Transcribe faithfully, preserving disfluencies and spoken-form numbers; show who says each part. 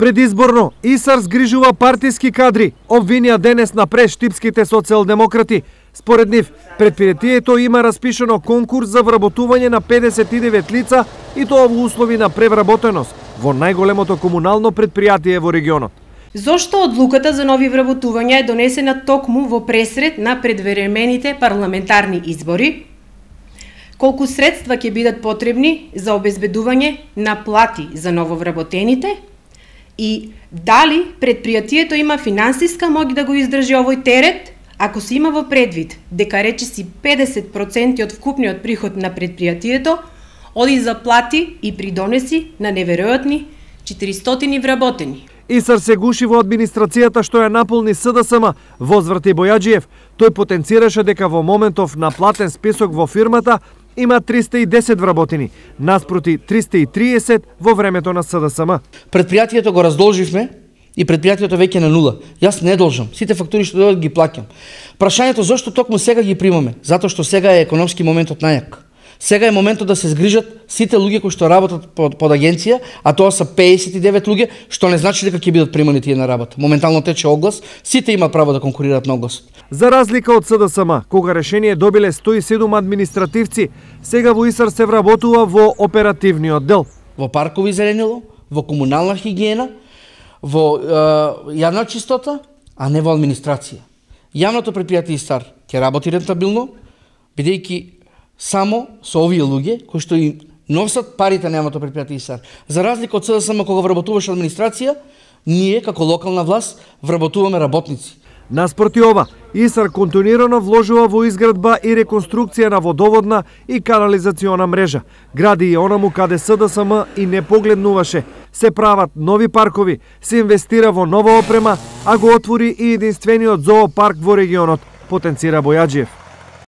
Speaker 1: Предизборно, ИСАР згрижува партиски кадри, обвинија денес на прештипските социјалдемократи. Според нив, предпријатието има распишено конкурс за вработување на педесет и девет лица и тоа во услови на превработеност во најголемото комунално предпријатие во регионот.
Speaker 2: Зошто одлуката за нови вработувања е донесена токму во пресред на предвремените парламентарни избори? Колку средства ќе бидат потребни за обезбедување на плати за нововработените? И дали предпријатието има финансиска моќ да го издржи овој терет, ако се има во предвид дека речиси педесет проценти од вкупниот приход на предпријатието оди за плати и придонеси на неверојатни четиристотини вработени.
Speaker 1: ИСАР се гуши во администрацијата што ја наполни СДСМ, возврати Бојаджиев. Тој потенцираше дека во моментов на платен список во фирмата има триста и десет вработени, наспроти триста и триесет во времето на СДСМ.
Speaker 3: Предпријатието го раздолживме и предпријатието веќе на нула. Јас не должам, сите фактури што дојдат ги плаќам. Прашањето зошто токму сега ги примаме? Затоа што сега е економски моментот најак. Сега е моментот да се згрижат сите луѓе кои што работат под, под агенција, а тоа се педесет и девет луѓе, што не значи дека ќе бидат примани тие на работа. Моментално тече оглас, сите имаат право да конкурираат на огласот.
Speaker 1: За разлика од СДСМ, кога решение добиле сто и седум административци, сега во ИСАР се вработува во оперативниот дел.
Speaker 3: Во паркови зеленило, во комунална хигиена, во е, јавна чистота, а не во администрација. Јавното предпријатие ИСАР ќе работи рентабилно, бидејќи само со овие луѓе кои што и носат парите на јавното предпријатие ИСАР. За разлика од СДСМ кога вработуваше администрација, ние како локална власт вработуваме работници.
Speaker 1: Наспроти ова, ИСАР континуирано вложува во изградба и реконструкција на водоводна и канализациона мрежа. Гради и онаму каде СДСМ и не погледнуваше. Се прават нови паркови, се инвестира во нова опрема, а го отвори и единствениот зоопарк во регионот, потенцира Бојаджиев.